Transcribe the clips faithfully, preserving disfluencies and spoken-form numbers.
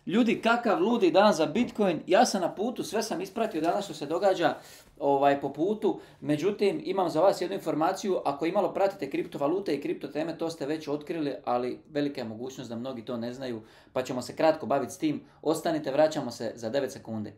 Ljudi, kakav ludi dan za Bitcoin. Ja sam na putu, sve sam ispratio danas što se događa ovaj, po putu. Međutim, imam za vas jednu informaciju. Ako imalo pratite kriptovalute i kripto teme, to ste već otkrili, ali velika je mogućnost da mnogi to ne znaju. Pa ćemo se kratko baviti s tim. Ostanite, vraćamo se za devet sekunde.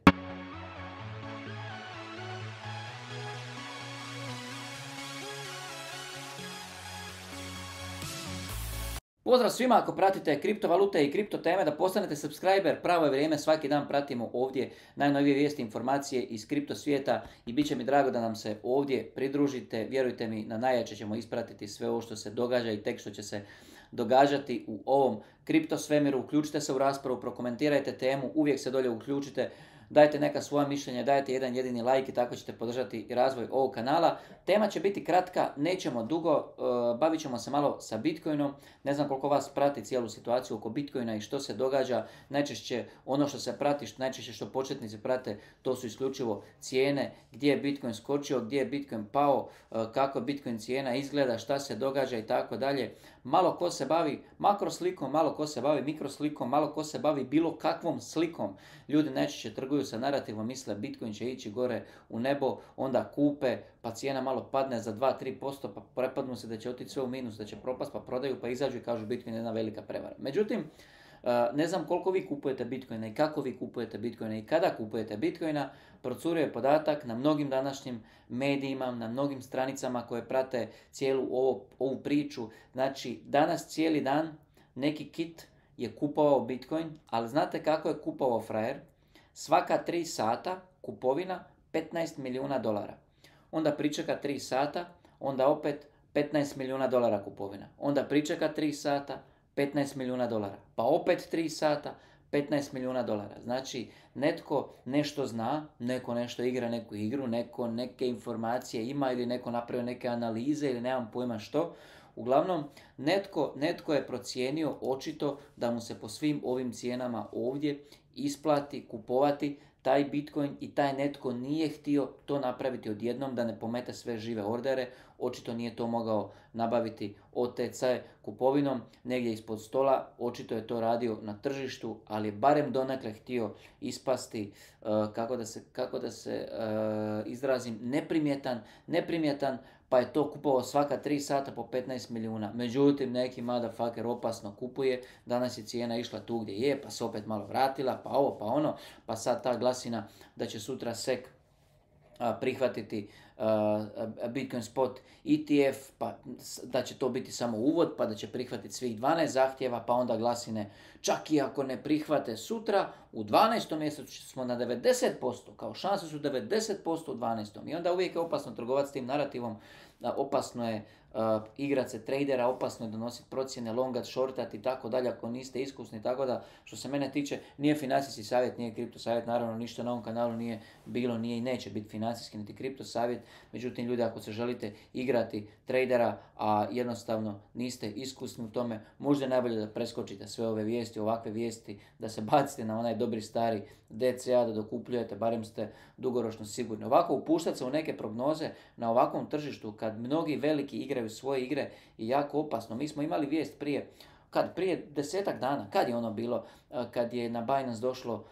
Pozdrav svima, ako pratite kriptovalute i kripto teme, da postanete subscriber, pravo je vrijeme, svaki dan pratimo ovdje najnovije vijesti, informacije iz kripto svijeta i bit će mi drago da nam se ovdje pridružite. Vjerujte mi, na najjače ćemo ispratiti sve ovo što se događa i tek što će se događati u ovom kripto svemiru. Uključite se u raspravu, prokomentirajte temu, uvijek se dolje uključite. Dajte neka svoja mišljenja, dajte jedan jedini like i tako ćete podržati razvoj ovog kanala. Tema će biti kratka, nećemo dugo, uh, bavit ćemo se malo sa Bitcoinom. Ne znam koliko vas prati cijelu situaciju oko Bitcoina i što se događa. Najčešće ono što se prati, što, najčešće što početnici prate, to su isključivo cijene, gdje je Bitcoin skočio, gdje je Bitcoin pao, uh, kako Bitcoin cijena izgleda, šta se događa i tako dalje. Malo ko se bavi makroslikom, malo ko se bavi mikroslikom, malo ko se bavi bilo kakvom slikom. Ljudi najčešće trguju sa narativom, misle Bitcoin će ići gore u nebo, onda kupe, pa cijena malo padne za dva do tri posto, pa prepadnu se da će otići sve u minus, da će propast, pa prodaju, pa izađu i kažu Bitcoin je jedna velika prevara. Međutim, ne znam koliko vi kupujete Bitcoina i kako vi kupujete Bitcoina i kada kupujete Bitcoina. Procurio je podatak na mnogim današnjim medijima, na mnogim stranicama koje prate cijelu ovo, ovu priču. Znači, danas cijeli dan neki kit je kupovao Bitcoin, ali znate kako je kupovao frajer? Svaka tri sata kupovina petnaest milijuna dolara. Onda pričeka tri sata, onda opet petnaest milijuna dolara kupovina. Onda pričeka tri sata, petnaest milijuna dolara. Pa opet tri sata, petnaest milijuna dolara. Znači, netko nešto zna, neko nešto igra neku igru, neko neke informacije ima ili neko napravio neke analize ili nemam pojma što. Uglavnom, netko, netko je procijenio očito da mu se po svim ovim cijenama ovdje isplati kupovati taj Bitcoin i taj netko nije htio to napraviti odjednom da ne pomete sve žive ordere. Očito nije to mogao nabaviti O T C kupovinom negdje ispod stola. Očito je to radio na tržištu, ali je barem donekle htio ispasti, uh, kako da se, kako da se uh, izrazim, neprimjetan, neprimjetan, pa je to kupovao svaka tri sata po petnaest milijuna. Međutim, neki motherfucker opasno kupuje, danas je cijena išla tu gdje je, pa se opet malo vratila, pa ovo, pa ono, pa sad ta glasina da će sutra S E C prihvatiti uh, Bitcoin Spot E T F, pa da će to biti samo uvod, pa da će prihvatiti svih dvanaest zahtjeva, pa onda glasine čak i ako ne prihvate sutra, u dvanaestom mjesecu smo na devedeset posto, kao šanse su devedeset posto u dvanaestom. I onda uvijek je opasno trgovati s tim narativom, opasno je uh, igrati se tradera, opasno je donositi procjene, longat, shortat i tako dalje ako niste iskusni, tako da što se mene tiče nije financijski savjet, nije kripto savjet, naravno ništa na ovom kanalu nije bilo, nije i neće biti financijski niti kripto savjet. Međutim, ljudi, ako se želite igrati tradera, a jednostavno niste iskusni u tome, možda je najbolje da preskočite sve ove vijesti, ovakve vijesti, da se bacite na onaj dobri stari D C A, da dokupljujete, barem ste dugoročno sigurni. Ovako upuštati se u neke prognoze na ovakvom tržištu kad mnogi veliki igraju svoje igre je jako opasno. Mi smo imali vijest prije, kad prije desetak dana, kad je ono bilo, kad je na Binance došlo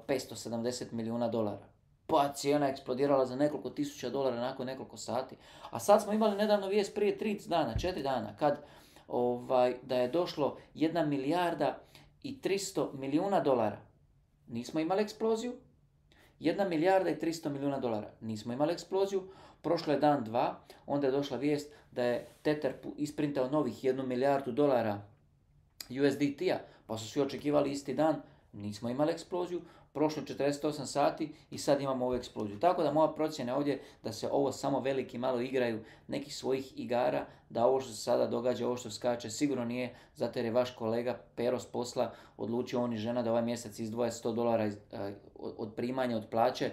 petsto sedamdeset milijuna dolara. Pa cijena eksplodirala za nekoliko tisuća dolara nakon nekoliko sati. A sad smo imali nedavno vijest prije tri dana, četiri dana, kad ovaj, da je došlo jedna milijarda i tristo milijuna dolara. Nismo imali eksploziju. Jedna milijarda i tristo milijuna dolara. Nismo imali eksploziju. Prošlo je dan, dva, onda je došla vijest da je Tether isprintao novih jednu milijardu dolara U S D T-a, pa su svi očekivali isti dan, nismo imali eksploziju. Prošlo četrdeset osam sati i sad imamo ovu eksploziju. Tako da moja procjena je ovdje da se ovo samo veliki malo igraju nekih svojih igara, da ovo što se sada događa, ovo što skače, sigurno nije zato jer je vaš kolega Pero s posla odlučio on i žena da ovaj mjesec izdvoje sto dolara iz, uh, od primanja, od plaće,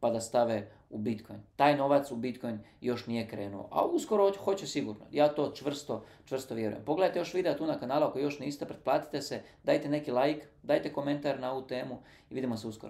pa da stave u Bitcoin. Taj novac u Bitcoin još nije krenuo, a uskoro hoće sigurno. Ja to čvrsto, čvrsto vjerujem. Pogledajte još videa tu na kanalu ako još niste, pretplatite se, dajte neki like, dajte komentar na ovu temu i vidimo se uskoro.